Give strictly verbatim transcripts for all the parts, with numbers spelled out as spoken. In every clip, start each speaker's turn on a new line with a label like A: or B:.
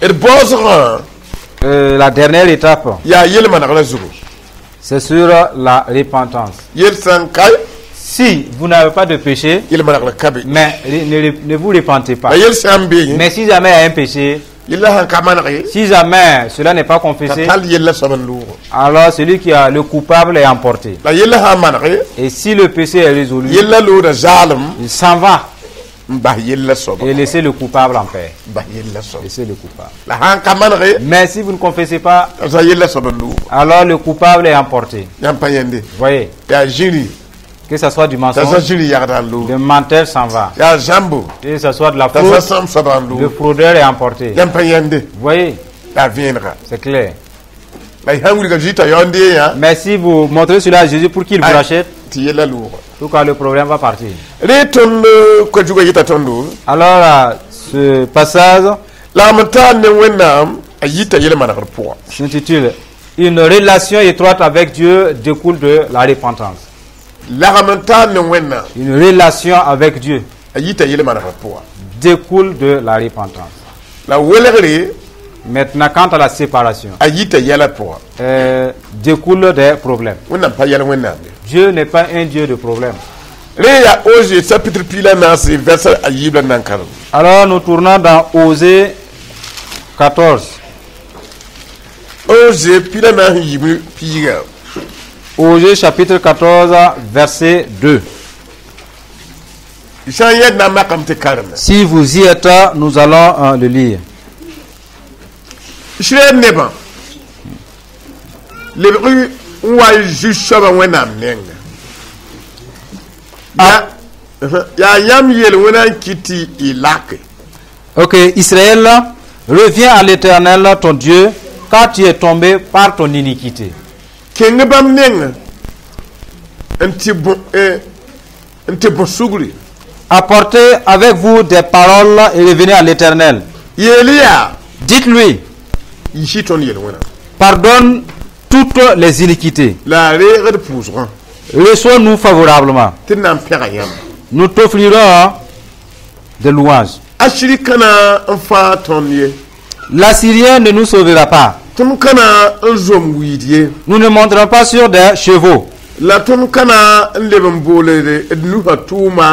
A: D baoosgã
B: Euh, la dernière étape,
A: yaa yel-manegrã zugu.
B: C'est sur la repentance.
A: Yel sã n ka,
B: Si vous n'avez pas de péché,
A: yel-manegrã ka be.
B: Mais ne, ne vous repentez pas.
A: La yel sã n be,
B: Mais si jamais il y a un péché,
A: yellã sãn ka maneg ye,
B: si jamais cela n'est pas confessé,
A: t'a tall yellã soab n loog.
B: Alors celui qui a le coupable est emporté.
A: La yellã sã n maneg ye,
B: Et si le péché est résolu,
A: yellã looda zaalem
B: il s'en va
A: n bas yellã soaba.
B: Et laissez le coupable en paix.
A: N bas yellã soaba.
B: Laissez le coupable.
A: La sãn ka maneg ye,
B: Mais si vous ne confessez pas,
A: t'a sa yellã soab n loog.
B: Alors le coupable est emporté.
A: Yãmb pa yẽnde.
B: Voyez,
A: Yaa zĩri,
B: que ce soit du
A: t'a sa
B: mensonge,
A: zĩri yagda n loog.
B: Le menteur s'en va.
A: Yaa zãmbo,
B: Que ce soit de la
A: t'a sa
B: fraude,
A: sãmb soaba n
B: le
A: loog.
B: Fraudeur est emporté.
A: Yãmb pa yẽnde.
B: Voyez,
A: Yaa vẽenega.
B: C'est clair.
A: La y sãn wilga Zezi t'a yaoond yã,
B: Mais si vous montrez cela à Jésus pour qu'il vous rachète,
A: tɩ yellã looga.
B: En tout cas le problème va partir.
A: Rẽ tõnd koa-zugã yeta tõndo
B: Alors, euh, ce passage
A: lagm n taar ne Wẽnnaam a yita yel-manegr pʋga.
B: S'intitule Une relation étroite avec Dieu découle de la repentance.
A: Lagm n taar ne Wẽnnaam
B: Une relation avec Dieu
A: a yita yel-manegr pʋga.
B: Découle de la repentance.
A: La welgre
B: Maintenant, quant à la séparation,
A: a yita yɛla pʋga.
B: euh, découle des problèmes.
A: Wẽnnaam pa yɛl Wẽnnaam ye.
B: Dieu n'est pas un Dieu de problèmes.
A: Rẽ yaa Oze chapitre piig la naase verset a yiib la nan karen.
B: Alors, nous tournons dans Osée quatorze.
A: Oze piig la naas n yiib piiga.
B: Osée chapitre quatorze, verset deux.
A: Sã n yɛd na n makame tɩ karem.
B: Si vous y êtes, nous allons euh, le lire.
A: Israɛl nebã lebg n wa n zu-soabã Wẽnnaam nenga yaa yaa yãmb yel-wẽna n kɩt tɩ y lake.
B: Ok, Israël, reviens à l'Éternel, ton Dieu, car tu es tombé par ton iniquité.
A: Kẽng bãmb neng n tɩ bõ eh, n tɩ bõ sugri.
B: Apportez avec vous des paroles et revenez à l'Éternel.
A: Yeel yaa
B: Dites-lui,
A: yisi tõnd yel-wẽna
B: pardonne toutes les iniquités.
A: La a reegd pʋʋsgã.
B: Reçois-nous favorablement.
A: Tɩ d na n pẽga yãmb.
B: Nous t'offrirons des louanges.
A: Asiri ka na n fãag tõnd ye.
B: L'Assyrien ne nous sauvera pas.
A: Tõnd ka na n zom wiid ye.
B: Nous ne monterons pas sur des chevaux.
A: La tõnd ka na n leb n booled d nusã tʋʋma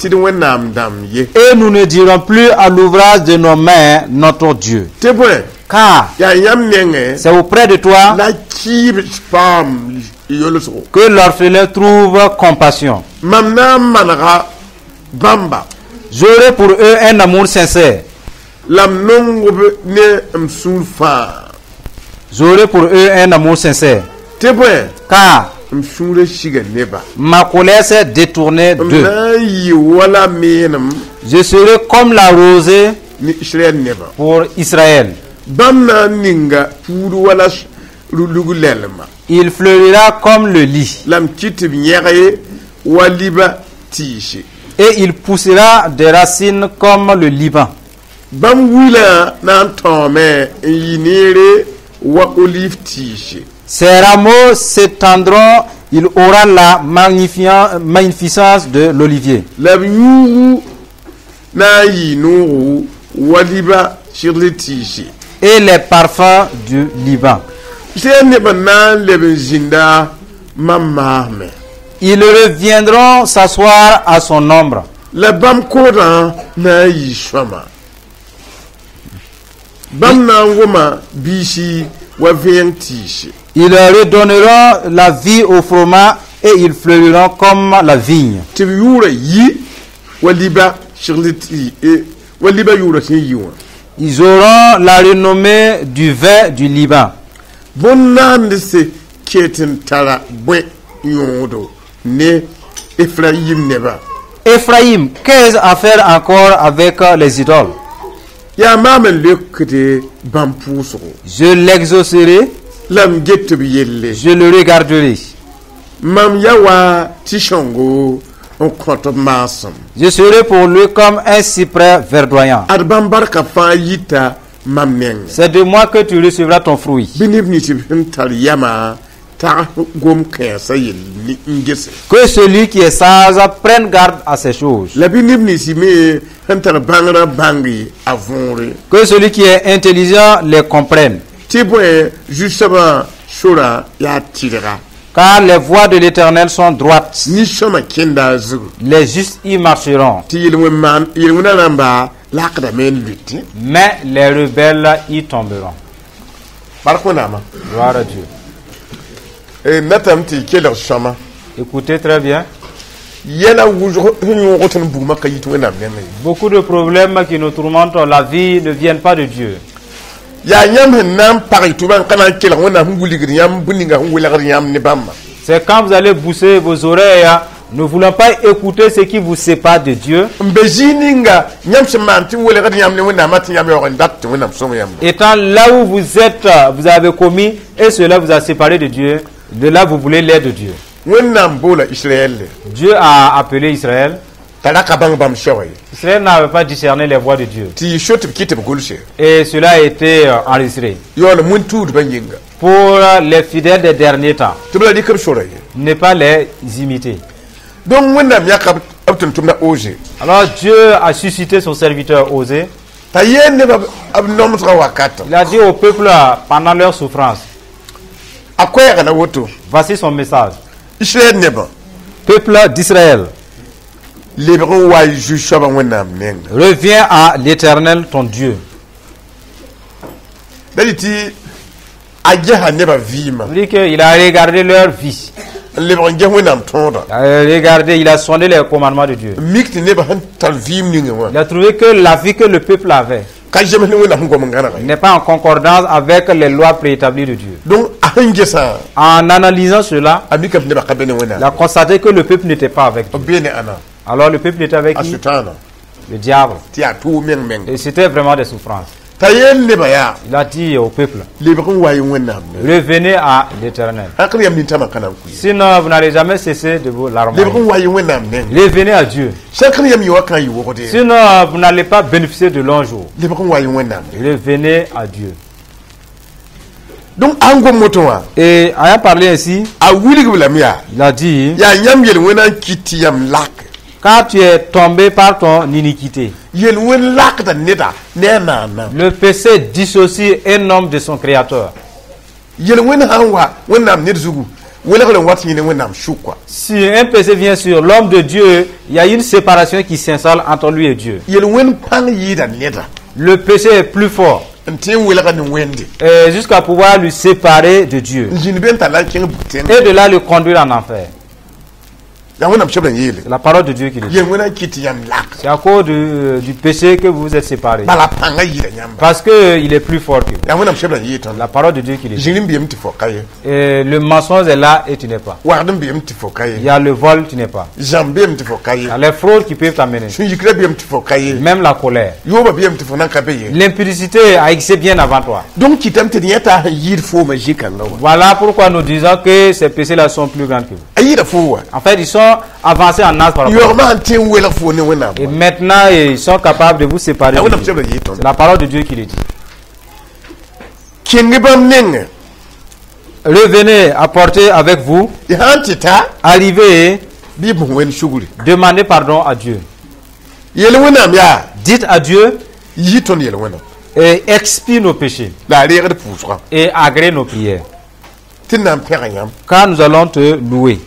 A: tɩ d Wẽnnaam dãmb ye.
B: Et nous ne dirons plus à l'ouvrage de nos mains, notre Dieu.
A: Tɩ bõe
B: Car
A: yaa yãmb nengẽ
B: c'est auprès de toi
A: la kiib paam yolsgo.
B: Que l'orphelin trouve compassion.
A: Mam na n manega bãmba.
B: J'aurai pour eux un amour sincère.
A: La m nong-b ne m sũur fãa.
B: J'aurai pour eux un amour sincère.
A: Tɩ bõe
B: Car
A: m sũurã siga neba.
B: Ma colère s'est détournée
A: M
B: d'eux.
A: Na n yɩ wala meenem
B: Je serai comme la rosée
A: ne Israɛl nebã.
B: Pour Israël.
A: Bãmb na n ninga puud wala lug lɛlma.
B: Il fleurira comme le lis.
A: La m kɩt tɩ b yẽg wa liba tɩɩse.
B: Et il poussera des racines comme le Liban.
A: Bãmb wilã na n tãoome n yɩ neere wa olive tɩɩse.
B: Ses rameaux s'étendront, il aura la magnifiant- magnificence de l'olivier.
A: La b yũugu na n yɩ noogo wa liba segl tɩɩse.
B: Et les parfums du Liban.
A: Israɛl nebã na n leb n zĩnda mam maasmẽ.
B: Ils reviendront s'asseoir à son ombre.
A: La bãmb koodã na n yɩ sõama bãmb na n wʋma biisi wa vẽeng tɩɩse.
B: Ils redonneront la vie au froment et ils fleuriront comme la vigne.
A: Tɩ b yʋʋra yi wa liba segl tɩ wa liba yʋʋra sẽn yi wã.
B: Ils auront la renommée du vin du Liban.
A: Bõn-naandse ket n tara bõe yõodo ne Efrayim nebã?
B: Éphraïm, qu'ai-je à faire encore avec les idoles?
A: Yaa maam n leokde bãmb pʋʋsgo.
B: Je l'exaucerai,
A: La m get b yelle.
B: Je le regarderai.
A: Mam ya wa tɩ sõngo n kõt b maasem.
B: Je serai pour lui comme un cyprès verdoyant.
A: Ad bãmb barka fãa yita mam nengẽ.
B: C'est de moi que tu recevras ton fruit.
A: Bɩ neb nins b sẽn tar yamã Tag gom kãensã yel ne n gese.
B: Que celui qui est sage prenne garde à ces choses.
A: La bɩ neb nins me sẽn tar bãngrã bãng a võore.
B: Que celui qui est intelligent les comprenne.
A: Tɩ bõe zu-soabã sora yaa tɩrga.
B: Car les voies de l'Éternel sont droites.
A: Nin-sõma kẽnda a zugu.
B: Les justes y marcheront.
A: Tɩ yel-wẽn yel-wẽnã rãmba lakdame n lʋɩtẽ.
B: Mais les rebelles y tomberont.
A: Bark Wẽnnaamã.
B: Gloire à Dieu.
A: Natame tɩ kelg sõma.
B: Écoutez très bien.
A: Yɛla wʋsg sẽn yõog tõnd bugmã ka yit Wẽnnaam nengã ye.
B: Beaucoup de problèmes qui nous tourmentent la vie ne viennent pas de Dieu.
A: Yaa yãmb sẽn na n pag y tʋbã n ka na n kelg Wẽnnaam sẽn wilgd yãmb bũmb ninga sẽn welgd yãmb ne bãmba.
B: C'est quand vous allez boucher vos oreilles, hein, ne voulant pas écouter ce qui vous sépare de Dieu,
A: n be zĩig ninga yãmb sẽn maan tɩ welgd yãmb ne Wẽnnaamã tɩ yãmb yaoog n dat tɩ Wẽnnaam sõng yãmb.
B: Étant là où vous êtes, vous avez commis et cela vous a séparé de Dieu, de là vous voulez l'aide de Dieu.
A: Wẽnnaam boola Israɛl.
B: Dieu a appelé Israël.
A: T'a ra ka bãng bãmb soaba ye.
B: Israël n'avait pas discerné les voies de Dieu.
A: Tɩ yɩ so tɩ b kɩt tɩ b gʋlse.
B: Et cela a été euh, enregistré.
A: Yaool wẽn-tuudbã yĩnga.
B: Pour euh, les fidèles des derniers temps,
A: Tɩ b la rɩk b sora ye.
B: Ne pas les imiter.
A: Donc Wẽnnaam yãka b tʋm-tʋmda Oze.
B: Alors Dieu a suscité son serviteur Osée.
A: T'a yeel nebã b nomsgã wakatã.
B: Il a dit au peuple euh, pendant leur souffrance,
A: A koɛɛga la woto.
B: Voici son message.
A: Israɛl nebã.
B: Peuple d'Israël,
A: Lebg n wa y zu-soabã Wẽnnaam nenga.
B: Reviens à l'Éternel ton Dieu.
A: Da dɩ tɩ a gesa nebã vɩɩmã.
B: Il dit qu'il a regardé leur vie.
A: N lebg n ges Wẽnnaam tõoda.
B: Il a regardé, il a sondé les commandements de Dieu.
A: N mik tɩ nebã sẽn tar vɩɩm ninga wã
B: Il a trouvé que la vie que le peuple avait
A: ka zems ne Wẽnnaam sẽn gom n gãnega ye.
B: N'est pas en concordance avec les lois préétablies de Dieu.
A: Donc a sẽn gesã
B: En analysant cela,
A: a mikame tɩ nebã ka be ne
B: il
A: Wẽnnaam.
B: A constaté que le peuple n'était pas avec Dieu.
A: B bee ne ãnna?
B: Alors le peuple était avec
A: A
B: qui?
A: Sʋtãana.
B: Le diable.
A: Tɩ yaa tʋʋg meng meng.
B: Et c'était vraiment des souffrances.
A: T'a yeel nebã yaa
B: Il a dit au peuple,
A: lebg n wa y Wẽnnaam ne.
B: Revenez à l'Éternel.
A: Sãn k yam nintãmã ka na n kʋ ye.
B: Sinon, vous n'allez jamais cesser de vous larmoyer.
A: Lebg n wa y Wẽnnaam neng.
B: Revenez à Dieu.
A: Sãn k yam yɩ wa kã yɩ wogde.
B: Sinon, vous n'allez pas bénéficier de longs jours.
A: Lebg n wa y Wẽnnaam ne.
B: Revenez à Dieu.
A: Donc a sẽn gom woto wã
B: Et ayant parlé ainsi,
A: a wilg b lame yaa
B: il a dit,
A: yaa yãmb yel-wẽnã n kɩt tɩ yam lak.
B: Car tu es tombé par ton iniquité.
A: Yel-wẽn lakda neda ne a naana.
B: Le péché dissocie un homme de son créateur.
A: Yel-wẽn sã n wa Wẽnnaam ned zugu welgr n wat yẽ ne Wẽnnaam sʋka.
B: Si un péché vient sur l'homme de Dieu, il y a une séparation qui s'installe entre lui et Dieu.
A: Yel-wẽn pãng yɩɩda neda
B: Le péché est plus fort
A: n tõe n welga ne Wẽnde
B: et jusqu'à pouvoir lui séparer de Dieu
A: n zĩnd be n tar la n kẽng bug-tẽng.
B: Et de là le conduire en enfer.
A: Yaa Wẽnnaam soab n yeele.
B: C'est la parole de Dieu qui le dit.
A: Yel-wẽnã n kɩt tɩ yãmb lak.
B: C'est à cause du, du péché que vous vous êtes séparés.
A: Bala pãngã yɩɩda yãmba.
B: Parce qu'il est plus fort que vous.
A: Yaa Wẽnnaam soab n yeel tõnd.
B: La parole de Dieu qui le dit.
A: Zĩr n beem tɩ fo ka ye.
B: Et le mensonge est là et tu n'es pas.
A: Wagd n beem tɩ fo ka
B: Il
A: ye.
B: Y a le vol, tu n'es pas.
A: Zãmb beem tɩ fo ka
B: Il
A: ye.
B: y a les fraudes qui peuvent t'amener.
A: Sũ-yikrã beem tɩ fo ka ye.
B: Même la colère.
A: Yooba beem tɩ fo nan ka be ye.
B: L'impudicité a existé bien avant toi.
A: Donc kɩtame tɩ d yẽ t'a sẽn yɩɩd foomã zĩ-kãngã wã.
B: Voilà pourquoi nous disons que ces péchés-là sont plus grands que vous.
A: A yɩɩda foo wa.
B: En fait, ils sont avancés en âge par rapport à vous.
A: Yaoogmã sẽn tõe n welg foo ne Wẽnnaam.
B: Et maintenant, ils sont capables de vous séparer
A: yaa
B: de
A: Wẽnnaam
B: Dieu.
A: soab n yeel tõnd.
B: C'est la parole de Dieu qui le dit.
A: Kẽng bãmb nengẽ.
B: Revenez, apportez avec vous,
A: Y sã n tɩ ta
B: arrivez,
A: bɩ b bõs Wẽnd sugri.
B: Demandez pardon à Dieu.
A: Yel Wẽnnaam yaa
B: Dites à Dieu
A: yi tõnd yel-wẽnã
B: et expie nos péchés
A: la a reegd pʋʋsga
B: et agrée nos prières.
A: Tɩ d na n pẽga yãmb.
B: Car nous allons te louer.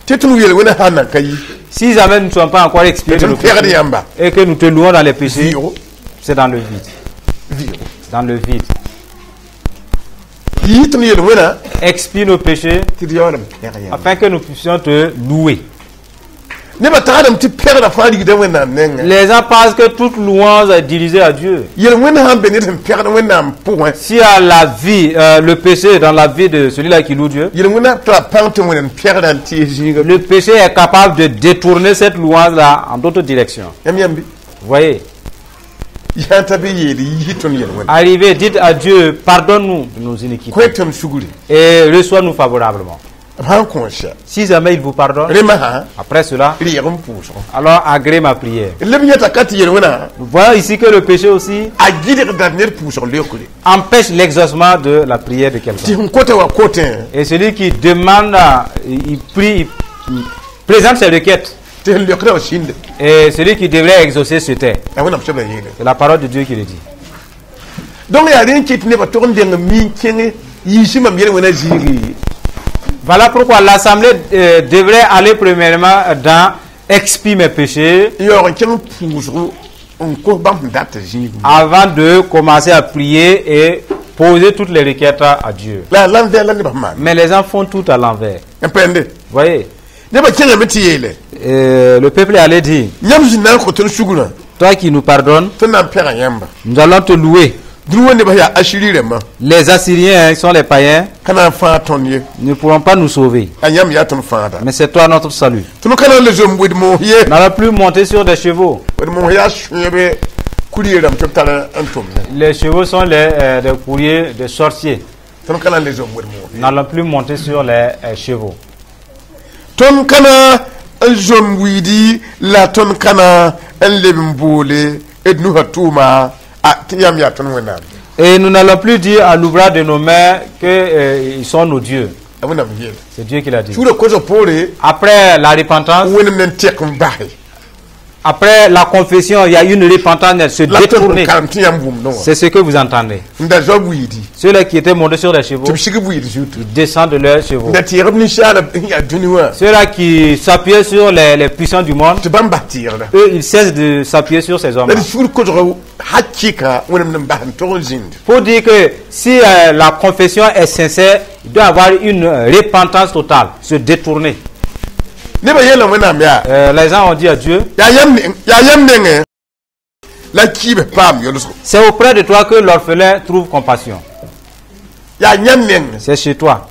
A: Tɩ tõnd yel-wẽnã sã n nan ka yi
B: Si jamais nous ne sommes pas encore expiés de
A: tõnd
B: nos
A: pẽgd
B: péchés
A: yãmba
B: et que nous te louons dans les péchés,
A: vɩʋgo
B: c'est dans le vide.
A: Vɩʋgo.
B: Dans le vide.
A: Yi tõnd yel-wẽnã
B: Expie nos péchés
A: tɩ d yaool n pẽg yãmb.
B: Afin que nous puissions te louer.
A: Nebã tagsdame tɩ pẽgda fãa rigda Wẽnnaam nengẽ.
B: Les gens pensent que toute louange est dirigée à Dieu.
A: Yel-wẽnd sã n be ned sẽn pẽgd Wẽnnaam pʋgẽ
B: S'il y a la vie, euh, le péché dans la vie de celui-là qui loue Dieu,
A: yel-wẽnã tara pãng tɩ Wẽnd n pẽgda n tɩ zĩiga.
B: Le péché est capable de détourner cette louange-là en d'autres directions.
A: Yãmb yãmbi
B: Vous voyez,
A: yã t'a be yeel yi tõnd yel-wẽnã.
B: Arrivez, dites à Dieu, pardonne-nous de nos iniquités
A: Kõ tõnd sugri.
B: Et reçois-nous favorablement.
A: B sã n kõ sɛ
B: Si jamais il vous pardonne,
A: rẽ masã
B: après cela,
A: reeg n pʋʋsgo.
B: Alors agrée ma prière.
A: Leb yẽta ka tɩ yel wẽna
B: Nous voyons ici que le péché aussi
A: a gɩdgda ned pʋʋsg leokre
B: empêche l'exaucement de la prière de
A: tɩ
B: quelqu'un.
A: sẽn kota wa kotẽ
B: Et celui qui demande, il il prie, il présente ses requêtes.
A: Tɩ sẽn leokda wa sĩnde.
B: Et celui qui devrait exaucer se tait.
A: A Wẽnnaam sebra yeele.
B: C'est la parole de Dieu qui le dit.
A: Donc yaa rẽ n kɩt nebã tog n deng mi kẽng yiisi mam yel wẽna zĩigi.
B: Voilà pourquoi l'assemblée euh, devrait aller premièrement dans expie mes péchés
A: N yaoog n kẽng pʋʋsgo n kos bãmb sẽn dat zĩig
B: avant de commencer à prier et poser toutes les requêtes à Dieu.
A: la l'envers la nebã sẽn maan.
B: Mais les gens font tout à l'envers.
A: N pẽnde
B: Voyez,
A: nebã kẽngame tɩ yeele
B: euh, le peuple est allé dire,
A: yãmb sẽn na n kõ tõnd sugrã
B: toi qui nous pardonnes,
A: tõnd na n pẽga yãmba.
B: Nous allons te louer.
A: Dũni wã nebã yaa Asiri rãmbã
B: Les Assyriens, hein, ils sont les païens,
A: ka na n fãag tõnd ye.
B: Ne pourront pas nous sauver.
A: A yãmb yaa tõnd fãagda.
B: Mais c'est toi notre salut.
A: Tõnd ka na n le zom wed-moos ye.
B: Nous n'allons plus monter sur des chevaux.
A: Wed-moos yaa sõebe kurɩ rãmb tɩ b tar n tʋmdẽ.
B: Les chevaux sont les, euh, des courriers des sorciers.
A: Tõnd ka na n le zom wed-moos
B: Nous
A: ye.
B: n'allons plus monter sur les euh, chevaux.
A: Tõnd ka na n zom wiidi la tõnd ka na n leb n boole d nusã tʋʋma a tɩ yãmb yaa tõnd Wẽnnaam.
B: Et nous n'allons plus dire à l'ouvrage de nos mains qu'ils sont nos dieux.
A: A Wẽnnaam yeel.
B: C'est Dieu qui l'a dit.
A: Sugr kosg poore
B: Après la repentance,
A: Wẽnnaam na n tɛk n base
B: après la confession, il y a une repentance, se
A: la tõnd
B: détourner.
A: karem tɩ yãmb wʋmdẽ wã.
B: C'est ce que vous entendez.
A: N da zao wiidi
B: Ceux-là qui étaient montés sur les chevaux,
A: tɩ b sig b wiid zutu.
B: Ils descendent de leurs chevaux.
A: N da tɩɩg b ninsaala sẽn yaa dũni wã
B: Ceux-là qui s'appuyaient sur les, les puissants du monde,
A: tɩ bãmb bas tɩɩgda.
B: Eux, ils cessent de s'appuyer sur ces hommes.
A: La d sugr kosg hakɩka Wẽnnaam na n bas n tog n zĩnd.
B: Pour dire que si euh, la confession est sincère, il doit y avoir une euh, repentance totale, se détourner.
A: Nebã yeela Wẽnnaam yaa
B: Euh, les gens ont dit à Dieu,
A: yaa yãmb neng- yaa yãmb nengẽ la kiibs paam yolsgo.
B: C'est auprès de toi que l'orphelin trouve compassion.
A: Yaa yãmb neng
B: C'est chez toi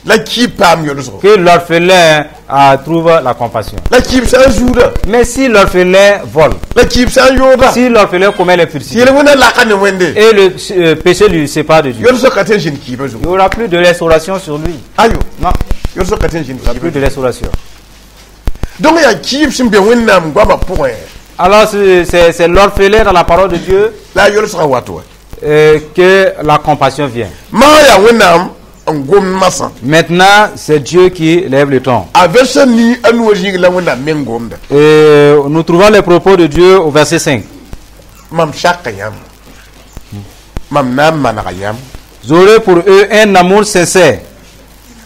A: la kiib paam yolsgo.
B: Que l'orphelin euh, trouve la compassion.
A: La kiib sã n zuuda
B: Mais si l'orphelin vole,
A: la kiib sã n yooda
B: si l'orphelin commet l'impudicité,
A: yel wẽnna laka ne Wẽnde
B: et le euh, péché lui sépare de Dieu,
A: yolsg ka tõe n zĩnd kiibã
B: il
A: zugu.
B: n'y aura plus de restauration sur lui.
A: Ayo
B: Non,
A: yolsg ka tõe n zĩnd
B: il n'y aura
A: kiibã
B: plus de restauration.
A: Donc yaa kiib sẽn be Wẽnnaam goamã pʋgẽ
B: Alors c'est c'est- c'est l'orphelin dans la parole de Dieu
A: la a yolsgã wat wa.
B: euh, que la compassion vient.
A: Maa yaa Wẽnnaam n gomd masã.
B: Maintenant, c'est Dieu qui lève le ton.
A: A vɛrsa nii a nuwã zĩig la Wẽnnaam meng gomda.
B: Et nous trouvons les propos de Dieu au verset cinq.
A: Mam saka yãmb mam na n manega yãmb.
B: J'aurai pour eux un amour sincère.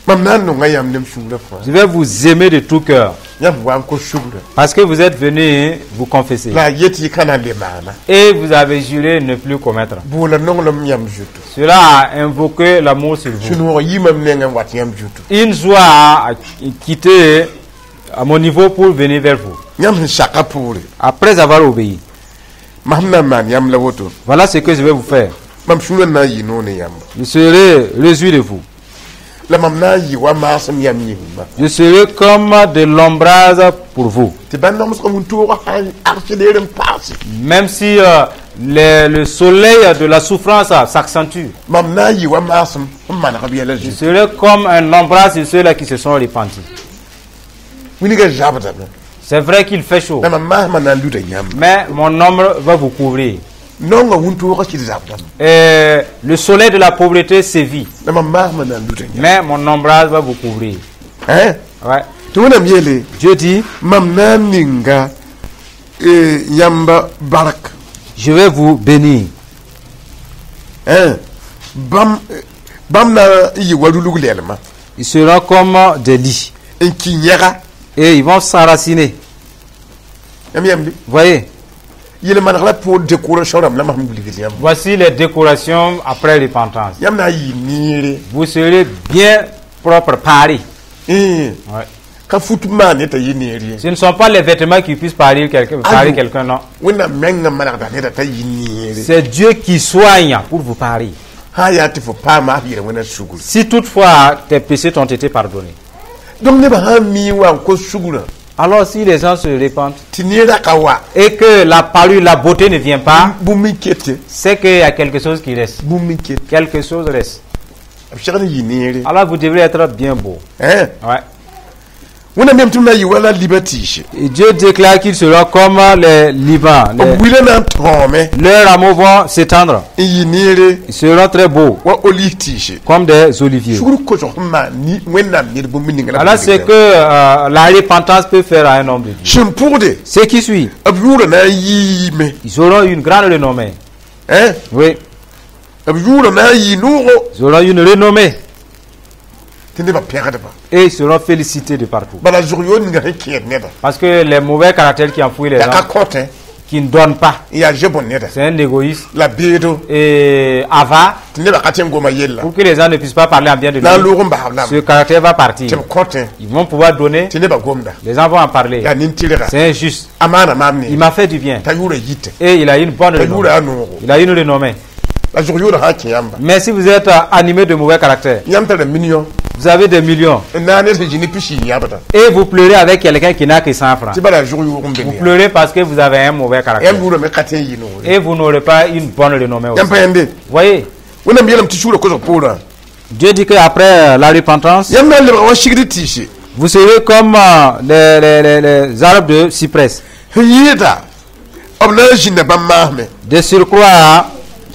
A: Mam na n nonga yãmb ne m sũurã fãa.
B: Je vais vous aimer de tout cœur.
A: Yãmb wa n kos sugrã
B: Parce que vous êtes venus vous confesser.
A: La a yet tɩ y ka na n le maana.
B: Et vous avez juré ne plus commettre.
A: Boola nonglem yãmb zutu.
B: Cela a invoqué l'amour sur vous.
A: Sũ-noog yii mam nengẽ n wat yãmb zutu.
B: Une joie a quitté à mon niveau pour venir vers vous.
A: Yãmb sẽn saka poore
B: Après avoir obéi.
A: Mam na n maan yãmb la woto.
B: Voilà ce que je vais vous faire.
A: Mam sũurã na n yɩ noog ne yãmb.
B: Je serai réjoui de vous.
A: La mam na n yɩ wa maasem yãmb yĩngã.
B: Je serai comme de l'ombrage pour vous.
A: Tɩ bãn nomsg wĩntoogã sã n agsleer n paase
B: Même si euh, le, le soleil de la souffrance euh, s'accentue,
A: mam na n yɩ wa maasem n maneg b yɛla
B: je
A: zutu.
B: Serai comme un ombrage sur ceux-là qui se sont repentis.
A: Wilgã zabdame.
B: C'est vrai qu'il fait chaud,
A: La mam maasmã na n luda yãmb.
B: Mais mon ombre va vous couvrir.
A: Naongã wĩntoogã sɩd zabdame.
B: Et le soleil de la pauvreté sévit,
A: La mam maasmã na n luda yãmb.
B: Mais mon ombrage va vous couvrir.
A: Hein?
B: Ouais.
A: Tɩ Wẽnnaam yeele
B: Dieu dit,
A: mam na n ninga eh, yãmba bark.
B: Je vais vous bénir.
A: Hein? Bãmb eh, bãmb na n yɩ wa rulg lɛlmã
B: Ils seront comme des lits
A: n kɩ yẽga.
B: Et ils vont s'enraciner.
A: Yãmb yãmb
B: Voyez,
A: yel-maneg la pʋʋr décoration rãmb la mam wilgd yãmb.
B: Voici les décorations après repentance.
A: Yãmb na n yɩ neere.
B: Vous serez bien propre, parés.
A: Eh,
B: Ouais.
A: Ka fut maan ne t'a yɩ neer ye.
B: Ce ne sont pas les vêtements qui puissent parer quelqu'un, parer
A: Aïe.
B: Quelqu'un, non.
A: Wẽnnaam mengã manegda neda t'a yɩ neere.
B: C'est Dieu qui soigne pour vous parer.
A: Sã n yaa tɩ fo paama f yel-wẽna sugr.
B: Si toutefois tes péchés t'ont été pardonnés.
A: Donc nebã sã n mii wa n kos sugrã
B: Alors si les gens se répandent
A: tɩ neerã ka wa
B: et que la parure, la beauté ne vient pas,
A: bũmb n kete
B: c'est qu'il y a quelque chose qui reste.
A: bũmb n kete.
B: Quelque chose reste.
A: B segd n yɩ neere.
B: Alors vous devrez être bien beau.
A: Hein?
B: Ouais.
A: Wẽnnaam yeelame tɩ b na n yɩ wala liba tɩɩse.
B: Et Dieu déclare qu'ils seront comme les Libans. Les-
A: B wilã na n tõome
B: leurs rameaux vont s'étendre.
A: N yɩ neere
B: Ils seront très beaux,
A: wa olive tɩɩse.
B: Comme des oliviers.
A: Sugr kosg sẽn maan ni Wẽnnaam ned bũmb ninga la.
B: Alors c'est que euh, la repentance peut faire à un homme de Dieu.
A: Sẽn pʋgde
B: Ce qui suit,
A: b yʋʋra na n yiime.
B: Ils auront une grande renommée.
A: Hein?
B: Oui,
A: B yʋʋra na n yɩ noogo
B: ils auront une renommée
A: tɩ nebã pẽgdba.
B: Et ils seront félicités de partout.
A: Bala zʋg yood ninga sẽn kẽed neda.
B: Parce que les mauvais caractères qui enfouissent les
A: Yaa ka
B: gens,
A: kõtẽ
B: qui ne donnent pas,
A: n yaa ze-bõn neda
B: c'est un égoïste
A: la beedo
B: et avare,
A: tɩ nebã ka tẽ n goma yella
B: pour que les gens ne puissent pas parler en bien de
A: na n
B: lui.
A: loog n basb lame
B: Ce caractère va partir.
A: Tɩ b kõtẽ
B: Ils vont pouvoir donner,
A: tɩ nebã gomda.
B: Les gens vont en parler.
A: Yaa nin-tɩrga.
B: C'est injuste.
A: A maana maam
B: Il
A: ne
B: m'a fait du bien.
A: t'a yʋʋra yite.
B: Et il a une bonne
A: T'a
B: renommée.
A: yʋʋra yaa noogo.
B: Il a une renommée.
A: La zʋg yʋʋra sã n kẽ yãmba.
B: Mais si vous êtes euh, animé de mauvais caractère,
A: Yãmb tara million
B: vous avez des millions
A: n na n ned sẽn zĩ ne pisi yãbda
B: et vous pleurez avec quelqu'un qui n'a que cent francs.
A: Tɩ bala zʋg yoog n be
B: Vous
A: ne
B: pleurez parce que vous avez un mauvais caractère.
A: yãmb yʋʋra me ka tẽ n yɩ noore.
B: Et vous n'aurez pas une bonne renommée aussi.
A: Yãmb pa yẽnde.
B: Vous voyez,
A: Wẽnnaam yeelame tɩ sugr kosg poorã
B: Dieu dit qu'après euh, la repentance,
A: yãmb na n lebga wa sigd tɩɩse
B: vous serez comme euh, les, les, les, les arbres de cyprès.
A: Sẽn yɩɩda b na n zĩnda bãmb maasme.
B: De surcroît,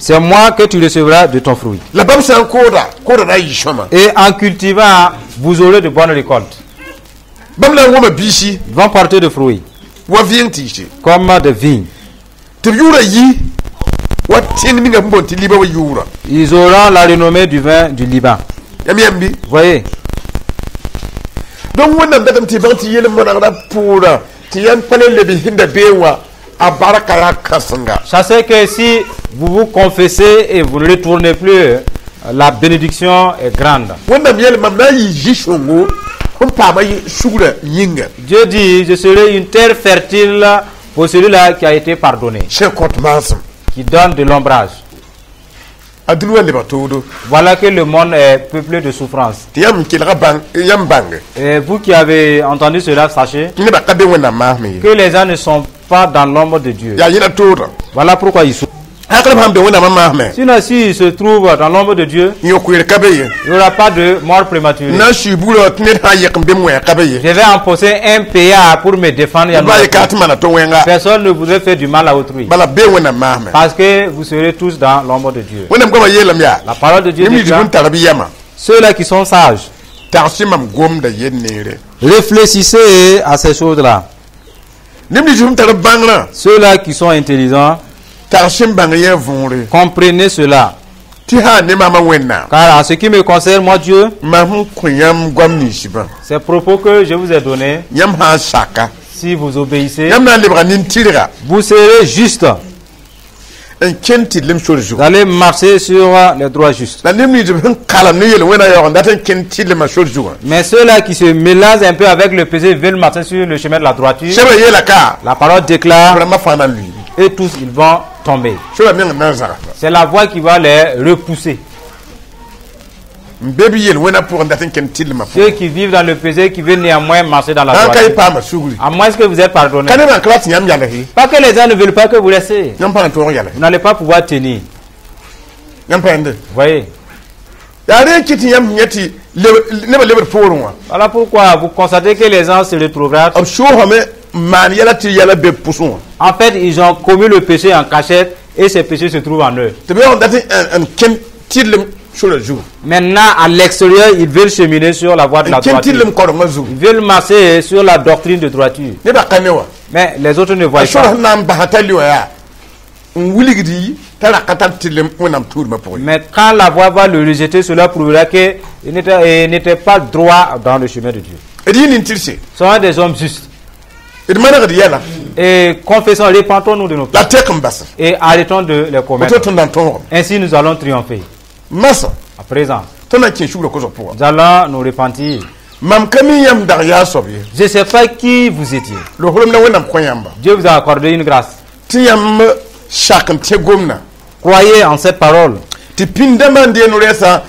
B: c'est moi que tu recevras de ton fruit.
A: La bãmb sã n kooda kooda na n yɩ sõma.
B: Et en cultivant, vous aurez de bonnes récoltes.
A: Bãmb na n wõma biisi
B: Ils vont porter de fruits,
A: wa vɩɩng tɩɩse
B: comme des vignes.
A: Tɩ b yʋʋra yi wa tẽng ninga sẽn boond tɩ liba wa yʋʋra.
B: Ils auront la renommée du vin du Liban.
A: Yãmb yãmb bɩ.
B: Vous voyez,
A: Donc Wẽnnaam datame tɩ bãng tɩ yel monagrã pʋʋra tɩ yãmb pa le leb sẽn da beẽ wã a barka yaa kãsenga.
B: Sachez que si vous vous confessez et vous ne retournez plus, euh, la bénédiction est grande.
A: Wẽnnaam yeel mam na n yɩ zĩ-sõngo sẽn paama sugrã yĩnga.
B: Dieu dit, je serai une terre fertile pour celui-là qui a été pardonné,
A: sẽn kõt maasem
B: qui donne de l'ombrage.
A: A dũni wa lebg toodo.
B: Voilà que le monde est peuplé de souffrances.
A: Tɩ yãmb n kelga bãng yãmb bãnge
B: Et vous qui avez entendu cela, sachez
A: tɩ nebã ka be Wẽnnaam maasme ye.
B: Que les gens ne sont pas dans l'ombre de Dieu.
A: Yaa yẽla toodã.
B: Voilà pourquoi ils souffrent.
A: Hakl b sãn be Wẽnnaamã maasme
B: Sinon, s'ils se trouvent dans l'ombre de Dieu,
A: yõ-koeer ka be ye.
B: Il n'y aura pas de mort prématurée.
A: Na n sui buurã tɩ ned sã n yek n be wẽa ka be ye.
B: Je vais empocher un P A pour me défendre. Il y en
A: ba
B: aura
A: ye ka tɩ mana tɩ wẽnga.
B: Personne ne voudrait faire du mal à autrui.
A: Bala be Wẽnnaam maasme.
B: Parce que vous serez tous dans l'ombre de Dieu.
A: Wẽnnaam goamã yeelame yaa
B: La parole de Dieu
A: neb nins
B: déclare,
A: bũmb tar bɩ yɛma
B: ceux-là qui sont sages,
A: tags mam gomda yel neere.
B: Réfléchissez à ces choses-là.
A: Neb nins sẽn tar bãngrã
B: Ceux-là qui sont intelligents,
A: tags sẽn bãng yẽ võore
B: comprenez cela.
A: Tɩ sã ne maamã Wẽnnaam
B: Car en ce qui me concerne, moi Dieu,
A: mam sẽn kõ yãmb goam ninsbã
B: ces propos que je vous ai donnés,
A: yãmb sã n saka
B: si vous obéissez,
A: yãmb na n lebga nin-tɩrga
B: vous serez juste.
A: N kẽnd tɩrlem sor zugu.
B: Vous allez marcher sur les droits justes.
A: La neb nins sẽn kalem ne yel-wẽna yaoog n dat n kẽnd tɩrlemã sor zugã.
B: Mais ceux-là qui se mélangent un peu avec le péché veulent marcher sur le chemin de la droiture.
A: Sɛbã yeela ka
B: La parole déclare,
A: rãmbã fãa na n lʋɩɩ.
B: Et tous ils vont tomber.
A: Sorã meng n na n zagsa.
B: C'est la voie qui va les repousser.
A: N be b yel-wẽna pʋgẽ dat n kẽnd tɩrlemã
B: Ceux
A: pʋgẽ
B: qui vivent dans le péché, qui veulent néanmoins marcher dans la
A: sã n ka yɩ
B: droiture.
A: Paama sugri.
B: À moins que vous êtes pardonné.
A: Ka nebã n ka rat tɩ yãmb yals ye.
B: Pas que les gens ne veulent pas que vous restiez.
A: Yãmb pa na tõog yals.
B: Vous n'allez pas pouvoir tenir.
A: Yãmb pa yẽnde.
B: Vous voyez.
A: Yaa rẽ n kɩt tɩ yãmb yẽ tɩ leb- nebã lebd poorẽ wã.
B: Voilà pourquoi vous constatez que les gens se retrouvent.
A: B soosame n maan yɛla tɩ yɛla be pʋsẽ wã.
B: En fait, ils ont commis le péché en cachette et ces péchés se trouvent en eux.
A: Tɩ b yaoog n dat n kẽnd tɩrlem sorã zugu.
B: Maintenant, à l'extérieur, ils veulent cheminer sur la voie de la
A: N kẽnd
B: droiture.
A: tɩrlem korengã zugu.
B: Ils veulent marcher sur la doctrine de droiture.
A: Nebã ka ne wã.
B: Mais les autres ne voient
A: A sora
B: pas.
A: sẽn na n basa t'a li wã yaa n wilgdi t'a ra ka tar tɩrlem Wẽnnaam tuudmã pʋgẽ.
B: Mais quand la voie va le rejeter, cela prouvera qu'il n'était il n'était pas droit dans le chemin de Dieu.
A: D yɩ nin-tɩrse.
B: Ce sont des hommes justes.
A: D manegd yɛla.
B: Et confessons, repentons-nous de nos
A: La
B: péchés.
A: tek n basa.
B: Et arrêtons de les commettre.
A: Woto tõnd na n tõogame.
B: Ainsi, nous allons triompher.
A: Masã
B: À présent,
A: tõnd na n kẽ sugrã kosg pʋga.
B: Nous allons nous repentir.
A: Mam ka mi yãmb dag yaa soab ye.
B: Je ne sais pas qui vous étiez.
A: Lohlem la Wẽnnaam kõ yãmba
B: Dieu vous a accordé une grâce.
A: Tɩ yãmb sak n tẽ gomdã
B: Croyez en cette parole.
A: Tɩ pĩnd dãmbã n deen rɛɛsã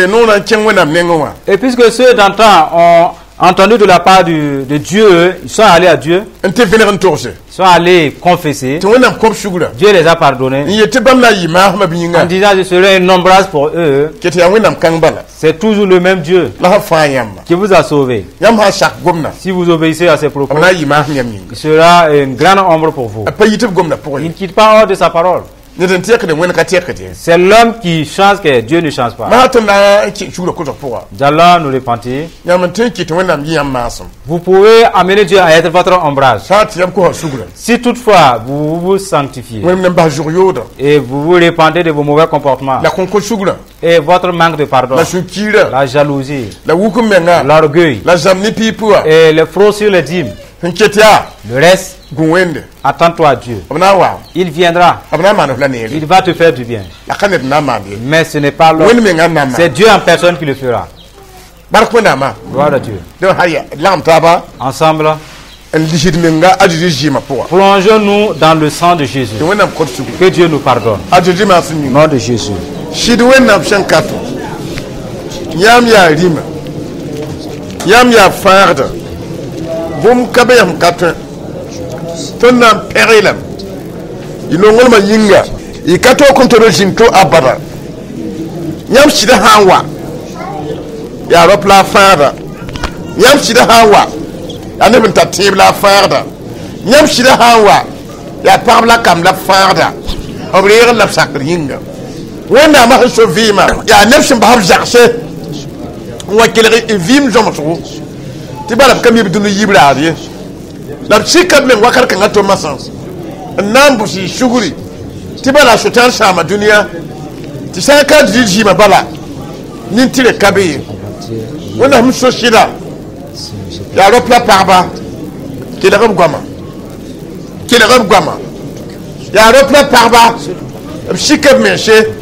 A: noorã n kẽng Wẽnnaam nengẽ wã.
B: Et puisque ceux d'antan ont entendu de la part du- de Dieu, ils sont allés à Dieu,
A: n tɩ vẽneg n togse
B: ils sont allés confesser.
A: Tɩ Wẽnnaam kõb sugrã
B: Dieu les a pardonnés.
A: N yet tɩ bãmb na n yɩ maasmã b yĩnga
B: En disant, je serai un ombrage pour eux.
A: Ket tɩ yaa Wẽnnaam kãng bala
B: C'est toujours le même Dieu
A: la sã fãa yãmba
B: qui vous a sauvé.
A: Yãmb sã n sak gomdã
B: Si vous obéissez à ses propos,
A: b na n yɩ maasem yãmb yĩnga
B: il sera une grande ombre pour vous.
A: A pa yit b gomdã pʋgẽ
B: Il ne quitte pas hors de sa parole.
A: Ned n tẽkde Wẽnd ka tẽkd ye
B: C'est l'homme qui change que Dieu ne change pas.
A: Maa tõnd na n kẽ sugrã kosg pʋga
B: Nous allons nous repentir.
A: Yãmb n tõe n kɩt Wẽnnaam yɩ yãmb maasem
B: Vous pouvez amener Dieu à être votre ombrage.
A: Sã n tɩ yãmb kosa sugrã
B: Si toutefois vous vous sanctifiez
A: Wẽnnaam na n bas zʋg yoodã
B: et vous vous répandez de vos mauvais comportements
A: la kõn-kõ sugrã
B: et votre manque de pardon,
A: la sũ-kiirã
B: la jalousie,
A: la wuk n menga
B: l'orgueil
A: la zãmb ne piip wã
B: et les fraudes sur les dîmes,
A: sẽn ket yaa
B: le reste,
A: gũ Wẽnde
B: attends-toi à Dieu.
A: B na n wa
B: Il viendra,
A: b na n maan f la neere
B: il va te faire du bien.
A: La ka ned n na n maan ye
B: Mais ce n'est pas l'homme,
A: Wẽnd menga n na n
B: c'est
A: maan
B: Dieu en personne qui le fera.
A: Bark Wẽnnaamã
B: Gloire à Dieu.
A: Donc haya lagem taaba
B: Ensemble,
A: n lisd menga a Zeezi zɩɩmã pʋga
B: plongeons-nous dans le sang de Jésus.
A: Tɩ Wẽnnaam kõt sugri
B: Que Dieu nous pardonne.
A: A Zeezi maasem
B: Au
A: yĩnga
B: nom de Jésus.
A: Sɩd Wẽnnaam sẽn ka tõ yãmb yaa rĩmã yãmb yaa fãagda bũmb ka be yãmb ka tõe tõnd na n pɛg lame y nonglmã yĩnga y ka toog kõn tɩ d zĩnd to abada yãmb sɩda sã n wa yaa rap la a fãagda yãmb sɩda sã n wa yaa neb n tar tẽeb la a fãagda yãmb sɩda sã n wa yaa pagb la kamb la fãagda b reegr la b sakr yĩnga Wẽnnaamã sẽn so vɩɩmã yaa neb sẽn bas b zagse n wa kelg n vɩɩm zõmsgo tɩ bala b ka mi b dũni yib raad ye la b sika b meng wakat kãngã to masã n na n bʋs y sugri tɩ bala sʋtãan sãama dũniyã tɩ sã n ka dɩ zɩɩmã bala nin-tɩrg ka be ye Wẽnnaam so sɩda yaa rap la pagba kelg b goama kelg b goama yaa rap la pagba b sika b mense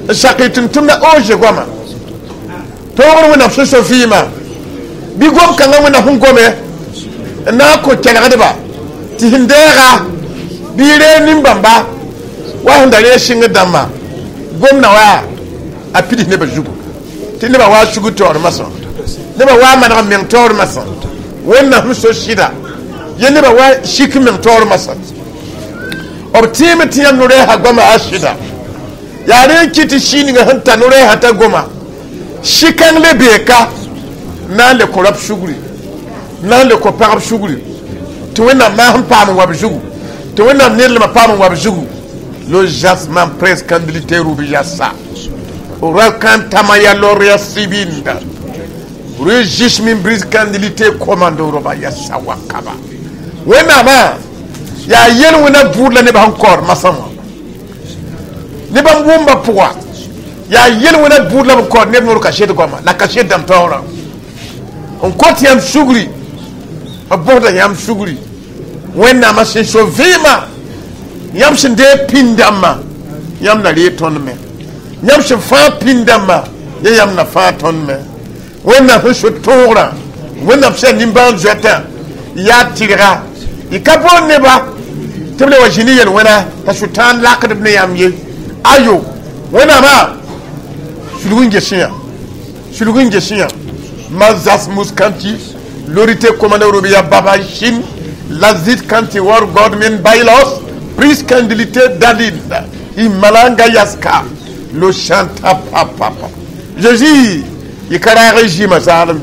A: n sak y tʋm-tʋmda oze goama toogr Wẽnnaam sẽn so vɩɩmã bɩ gom kãngã Wẽnnaam sẽn gome n na n kõ kelgdba tɩ sẽn deega bɩ y reeg nin-bãmba wa sẽn da reeg sɩngd dãmbã gomdã wa a pids nebã zugu tɩ nebã wa sugr taoor masã nebã wa maneg n meng taoor masã Wẽnnaam sẽn so sɩda ye nebã wa sik meng taoor masã b tẽeme tɩ yãmb no-rɛɛsã goama a sɩda yaa rẽ n kɩt tɩ sii ninga sẽn ta no-rɛɛsã t'a goma sɩ-kãng le beeka na n le kõ rab sugri na n le kõ pagb sugri tɩ Wẽnnaam maas n paam n wa b zugu tɩ Wẽnnaam nedlmã paam n wa b zugu lo jasman prescandilité rubi yasa rakantamaya loria sibinda rejismin briscandilité commando roba yasa wakaba Wẽnnaamã yaa yel wẽna buud la nebã sẽn kaood masã wã nebã n wʋmba pʋga yaa yel wẽna buud la b kaood neb noor kaset goama la kaset dãmb taoorã n kõt yãmb sugri b bʋsda yãmb sugri Wẽnnaamã sẽn so vɩɩmã yãmb sẽn deeg pĩnd dãmbã yãmb na reeg tõnd me yãmb sẽn fãa pĩnd dãmbã ya yãmb na fãa tõnd me Wẽnnaam sẽn so tõogrã Wẽnnaam sẽn nimbãan-zoɛtã yaa tɩrga y ka boond neba tɩ b le wa zĩni yel-wẽna t'a sʋtãan lakd b ne yãmb ye ayo Wẽnnaamã sulg n gesẽ yã sulg n gesẽ yã mazas muskanti lorite komanda robiya baba shin lazit kanti war godmin bailos priskandilité dalil imalanga yaska lo chanta papa Jésus y ka raag zĩmã zaalem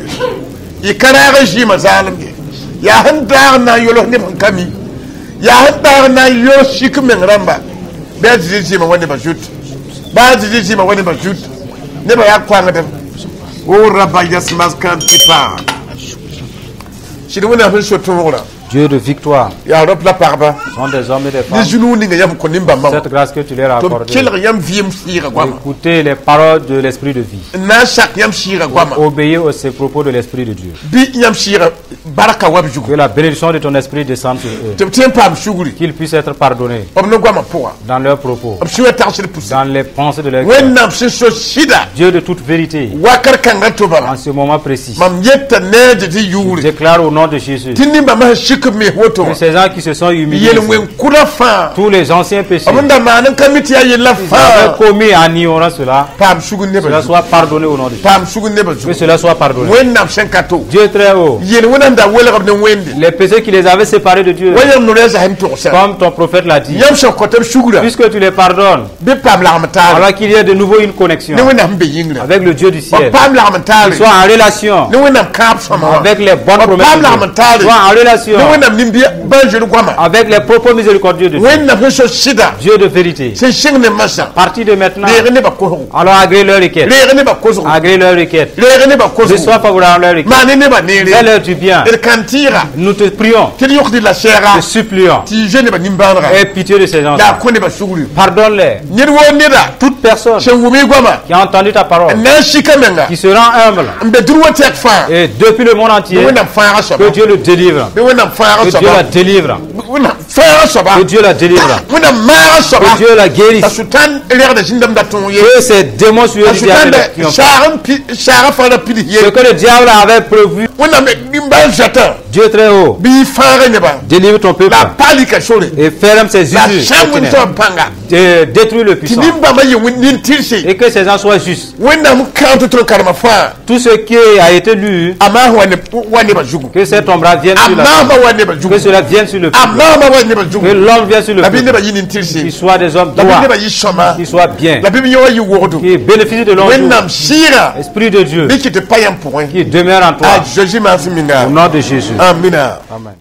A: ye y ka raag zĩmã zaalem ye yaa sẽn daag n na n yols neb sẽn ka mi yaa sẽn daag n na n yols sik meng rãmba bɩ a Zezi zĩmã wa nebã zut baa a Zezi zĩmã wa nebã zut nebã yaa koangdem o raba yasmas kan tɩ paa sɩd Wẽnnaam sẽn so tõogrã
B: Dieu de victoire
A: yaa rap la pagba
B: sont des hommes et des
A: ne
B: femmes.
A: zũnug ninga yãmb kõ nin-bãmbã
B: Cette grâce que tu leur as
A: tɩ b
B: accordée.
A: kelg yãmb vɩɩm sɩɩga goama
B: Écoutez les paroles de l'Esprit de vie.
A: N na n sak yãmb sɩɩga goama
B: Obéir aux ces propos de l'Esprit de Dieu.
A: Bɩ yãmb sɩɩga barka wa b zugu
B: Que la bénédiction de ton esprit descende sur eux.
A: Tɩ b tõe n paam sugri
B: Qu'ils puissent être pardonnés
A: b ne goamã pʋga
B: dans leurs propos,
A: b sũyã tagsd pʋse
B: dans les pensées de leur cœur.
A: Wẽnnaam sẽn so sɩda
B: Dieu de toute vérité,
A: wakat kãngã tʋbala
B: en ce moment précis,
A: mam yeta ne a Zezi yʋʋre
B: déclare au nom de Jésus
A: tɩ nin-bãmbã sẽn sik sik b mes woto
B: Que ces gens qui se sont humiliés,
A: yel-wẽn kʋdã fãa
B: tous les anciens péchés,
A: b n da maan n ka mi tɩ yaa yella
B: ils avaient
A: fãa
B: commis en ignorant cela,
A: paam sugr nebã
B: cela
A: zugu
B: soit pardonné au nom de Jésus.
A: Paam sugr nebã
B: Que
A: zugu
B: cela soit pardonné.
A: Wẽnnaam sẽn ka to
B: Dieu très haut,
A: yel-wẽnã n da welg b ne Wẽnde
B: les péchés qui les avaient séparés de Dieu,
A: wa yãmb no rɛɛsa sẽn togsã
B: comme ton prophète l'a dit,
A: yãmb sẽn kõt b sugrã
B: puisque tu les pardonnes,
A: bɩ paam lagem taare
B: alors qu'il y ait de nouveau une connexion
A: ne Wẽnnaam sẽn be yĩngrã
B: avec le Dieu du
A: b
B: ciel.
A: paam lagem taare
B: Sois en relation
A: ne Wẽnnaam kãab sõma wã
B: avec les bonnes
A: b
B: promesses
A: paam
B: de
A: lagem
B: Dieu.
A: taare
B: Sois en relation
A: ne Wẽnnaam nimbãan-zoeer goama
B: avec les propos miséricordieux de Dieu.
A: Wẽnnaam sẽn so sɩda
B: Dieu de vérité.
A: Sẽn sɩng ne masã
B: À partir de maintenant,
A: reeg nebã kosgo
B: alors agrée leur requête.
A: Reeg nebã kosgo
B: Agrée leur requête.
A: Reeg nebã
B: Je
A: kosgo
B: sois favorable à leur requête.
A: maan ne nebã neere
B: Fais-leur du bien.
A: D kãn tɩɩga
B: Nous te prions,
A: tɩ d yõkd la sɛɛga
B: te supplions.
A: Tɩ y zoe nebã nimbãanega
B: Aie pitié de ces gens.
A: La a kõ nebã sugri
B: Pardonne-les.
A: Ned woo neda
B: Toute personne
A: sẽn wʋm y goama
B: qui a entendu ta parole,
A: n na n sika menga
B: qui se rend humble,
A: n be dũni wã tɛk fãa
B: et depuis le monde entier,
A: Wẽnnaam fãaga soaba
B: que Dieu le délivre.
A: Bɩ Wẽnnaam fãaga
B: Que Dieu
A: soaba
B: la délivre.
A: Wẽnnaam fãaga soaba
B: Que Dieu la délivre.
A: Wẽnnaam maaga soaba
B: Que Dieu la guérisse.
A: T'a Sʋtãan rɛgda zĩndãmbda tõog ye
B: Que ces démons sur
A: t'a
B: eux du diable
A: Sʋtãan
B: ne triomphent.
A: saag n pi saagã fãa ra pids ye
B: Ce que le diable avait prévu,
A: Wẽnnaam nimbãan-zoatã
B: Dieu très haut,
A: bɩ y fãaga nebã
B: délivre ton peuple
A: la a pa lika sore
B: et ferme ses
A: la
B: issues.
A: sã n wẽn pãnga
B: De- Détruis le
A: tɩ
B: puissant
A: nin-bãmbã yɩ nin-tɩrse
B: et que ces gens soient justes.
A: Wẽnnaam kãag tɩ tõnd karema fãa
B: Tout ce qui a été lu,
A: a maas wa ne wa nebã zugu
B: que cet ombrage vienne
A: a
B: sur la
A: maasmã wa nebã
B: que
A: zugu
B: cela vienne sur le
A: a
B: peuple.
A: maasmã wa nebã
B: Que
A: zugu
B: l'homme vienne sur le
A: la bɩ
B: peuple.
A: nebã yɩ nin-tɩrse
B: Qu'ils soient des hommes
A: la bɩ
B: droits,
A: nebã yɩ sõma
B: qu'ils soient bien,
A: la bɩ b yõ yɩ wogdo
B: qu'ils bénéficient de longs jours.
A: Wẽnnaam sɩɩgã
B: Esprit de Dieu
A: bɩ kɩ tɩ pa yãmb pʋgẽ
B: qui demeure en toi.
A: A Zeezi maas minga
B: Au nom de Jésus.
A: Amina.
B: Amen.